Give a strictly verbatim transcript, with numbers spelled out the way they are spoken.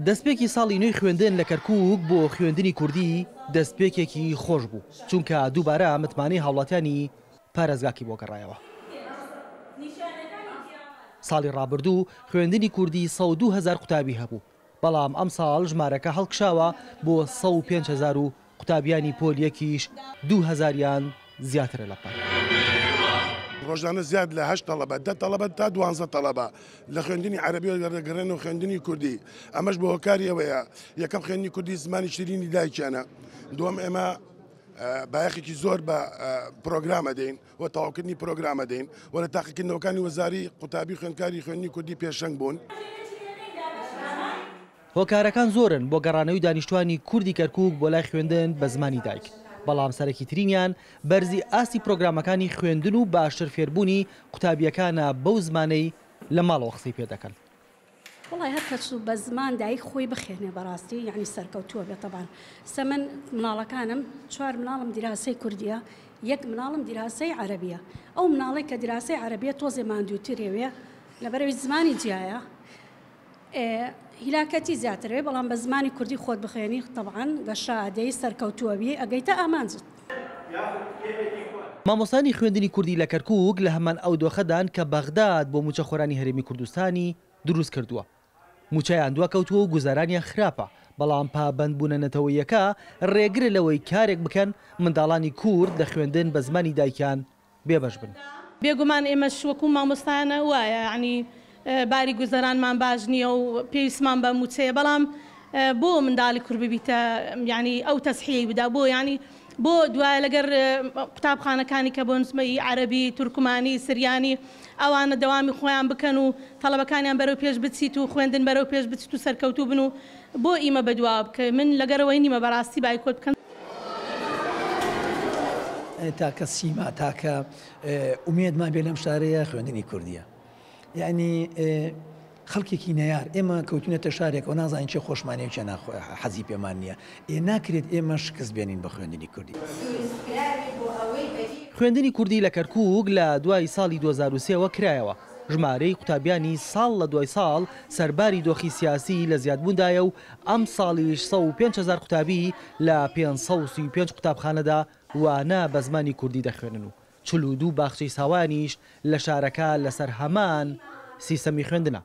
دەستپێکی ساڵی نوێی خوێندن لە کەرکووک بۆ خوێندنی کوردی دەستپێکێکی خۆش بوو، چونکە دووبارە متمانەی هاوڵاتیانی پارێزگاکی بۆ گەڕایەوە. ساڵی ڕابردوو خوێندنی کوردی سەد و دوو هەزار قوتابی هەبوو، بەڵام ئەم ساڵ ژمارەکە هەڵکشاوە بۆ سەد و پێنج هەزار و قوتابیانی پۆل یەکیش دوو هەزاریان زیاترە لە پار. ڕۆژانە زیاد لە هەشت تەڵەبە، دە تەڵەبە تا دوانزە تەڵەبە لە خوێندنی عەرەبیەوە دەگەڕێن و خوێندنی کوردی. ئەمەش بۆ هۆکاری ئەوەیە یەکەم خوێندنی کوردی زمانی شیرینی دایکیانە، دووەم ئێمە بایەخێکی زۆر بە پرۆگرامە دەین و تەواوکردنی پرۆگرامە دەین و لە تاقیکردنەوەکانی وەزاری قوتابی خوێندکاری خوێندنی کوردی پێشەنگ بوون. هۆکارەکان زۆرن بۆ گەڕانەوەی دانیشتوانی کوردی کەرکووک بۆ لای خوێندن بە زمانی دایک، بەڵام سەرەکی ترینیان بەرزی ئاستی پرۆگرامەکانی خوێندن و باشتر فێربوونی قوتابیەکانە بەو زمانەی لە ماڵەوە قسەی پێ دەکەن. وڵی هەر کەس بە زمان دایک خۆی بخێنێ بەڕاستی یعنی سەرکەوتووە بێت. تەبان سە من مناڵەکانم چوار مناڵم دیراسەی کوردیە، یەک مناڵم دیراسەی عەرەبیە. ئەو مناڵێک کە دیراسەی عەرەبیە تۆزێ ماندووترێوێ لەبەرەوەی زمانی جیایە هیلاکەتی زیاترێ، بەڵام بە زمانی کوردی خۆت بخوێنی طبعاً گەشە ئادەی سەرکەوتووەبی ئەگەیتە ئامانجت. مامۆستانی خوێندنی کوردی لە کەرکووک لە هەمان ئەو دۆخەدان کە بەغداد بۆ موچەخۆرانی هەرێمی کوردستانی دروست کردووە. موچەیان دواکەوتووە و گوزارانیان خراپە، بەڵام پابەندبوونە نەتەوەیەکە ڕێگرە لەوەی کارێک بکەن منداڵانی کورد لە خوێندن بە زمانی دایکیان بێبەش بن. بێگومان ئێمەش وەکو مامۆستایانە وایە، یعنی باری گوزەرانمان باش نییە و پێویستمان بە موچەیە، بەڵام بۆ منداڵی کورد ببیتە یعنی ئەو تەسحیەی بدا بۆ یعنی بۆ دوایە لەگەر قوتابخانەکانی کە بۆ نسمەی عەرەبی، تورکمانی، سریانی ئەوانە دەوامی خۆیان بکەن و تەڵەبەکانیان بەرەو پێش بچیت و خوێندن بەرەو پێش بچیت و سەرکەوتوو بن و بۆ ئیمە بەدواوە بکە. من لەگەرەوەی نیمە بەڕاستی بایکۆت بکەن. تاکە سیما، تاکە ئومێدمان بێ لەم شارەیە خوێندنی کوردیە. یعنی خەڵکێکی نەیار، ئێمە کەوتونەتە شارێک و نازانین چێ خۆشمانەیە و چێ حەزی پێمان نییە. ئێ ناکرێت ئێمە شکست بێنین بە خوێندنی کوردی. خوێندنی کوردی لە کەرکووک لە دوای ساڵی دوو هەزار و سێوە کرایەوە. ژمارەی قوتابیانی ساڵ لە دوای ساڵ سەرباری دۆخی سیاسی لە زیادبووندایە و ئەم ساڵیش سەد و پێنج هەزار قوتابی لە پێنج سەد و سی و پێنج قوتابخانەدا وانە بە زمانی کوردی دەخوێنن و چل و دوو باخچەی ساوانیش لە شارەکە لەسەر هەمان سیستەمی خوێندنە.